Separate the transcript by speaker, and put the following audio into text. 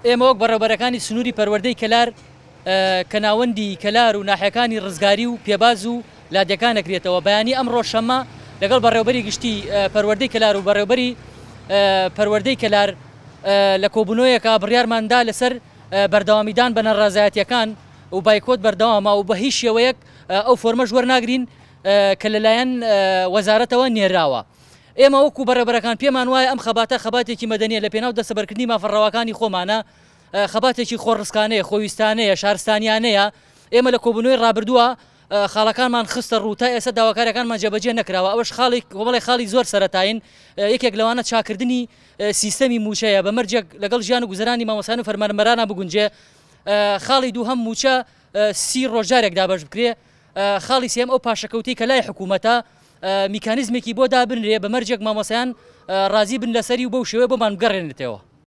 Speaker 1: ئێمە وەک بەڕێوبەرەکانی سنووری پەروەردەی کەلار کە ناوەندی کەلار و ناحیەکانی ڕزگاری و پێباز و لادێکان ئەگرێتەوە، بەیانی ئەمڕۆ شەممە لەگەڵ بەڕێوبەری گشتی پەروەردەی کەلار و بەڕێوبەری پەروەردەی کەلار لە کۆبوونەوەیەکا بڕیارمان دا لەسەر بەردەوامیدان بە ناڕەزایەتیەکان و بایکۆت بەردەوامە و بە هیچ شێوەیەک ئەو فۆرمەش وەرناگرین کە لەلایەن وەزارەتەوە نێراوە. ئێمە وەکو بەڕێوبەرەکان پێمان وایە ئەم خەباتە خەباتێکی مەدەنیە لە پێناو دەستەبەرکردنی مافە ڕەواکانی خۆمانە، خەباتێکی خۆڕسکانەیە، خۆویستانەیە، شارستانیانەیە، ئێمە لە کۆبوونەوەی ڕابردووە خاڵەکانمان خستە ڕوو، تا ئێستا داواکاریەکانمان جێبەجێ نەکراوە، ئەوەش خاڵێک کۆمەڵێک خاڵی زۆر سەرەتایین، یەکێک لەوانە چاکردنی سیستەمی مووچەیە بە مەرجێک لەگەڵ ژیان و گوزەرانی مامۆستایان و فەرمانبەرانە بگونجێ، خاڵی دووهەم مووچە 30 ڕۆژ جارێک دابەش بکرێ، خاڵی سێیەم ئەو پاشەکەوتەی کە لای حکوومەتە میکانیزمێکی بۆ دابنرێ بە مەرجێک مامۆستایان ڕازی بن لەسەری و بەو شێوەیە بۆمان بگەڕێنرێتەوە.